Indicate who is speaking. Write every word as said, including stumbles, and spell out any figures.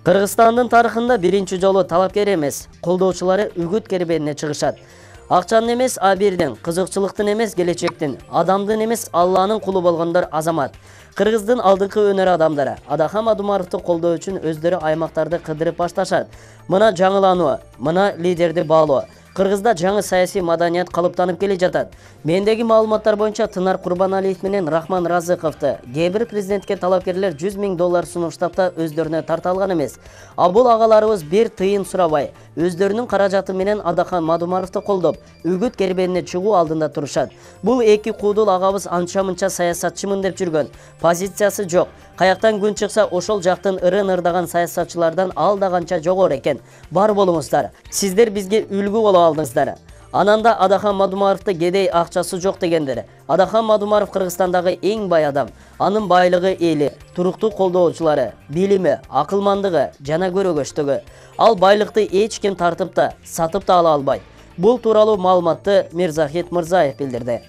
Speaker 1: Кыргызстандын тарыхында биринчи жолу талапкер эмес, колдоочулары үгүт кербенине чыгышат. Акчанын эмес абирдин, кызыкчылыктын эмес келечектин, адамдын эмес Алланын кулу болгондор азамат. Кыргыздын алдыңкы өнөр адамдары Адахам Адумаровду колдоо үчүн өздөрү аймактарды кыдырып башташат. Мына жаңылануу, мына лидерди баалоо. Кыргызда жаңы саясий маданият калыптанып келе жатат. Мендеги маалыматтар боюнча Тынар Курбаналиев менен Рахман Разыковду кээ бир президентке талапкерлер жүз миң доллар сунуштап да өздөрүнө тарта алган эмес. А бул агаларыбыз бир тыйын сурабай, өздөрүнүн каражаты менен Адахам Адумаровду колдоп, үгүт кербенине чыгуу алдында турушат. Бул эки куудул агабыз анча-мынча саясатчымын деп жүргөн. Позициясы жок. Каяктан күн чыкса ошол жактын ырын ырдаган саясатчылардан ал да канча жогору экен. Бар болуңуздар. Сиздер бизге үлгү боло алдыңыздар. Ананда Адахам Адумаровду кедей акчасы жок дегендер. Адахам Адумаров Кыргызстандагы эң бай адам. Анын байлыгы эли, туруктуу колдоочулары, билими, акылмандыгы жана көрөгөчтүгү. Ал байлыкты эч ким тартып да, сатып да ала албайт. Бул тууралуу маалыматты Мирзахит Мырзаев билдирди.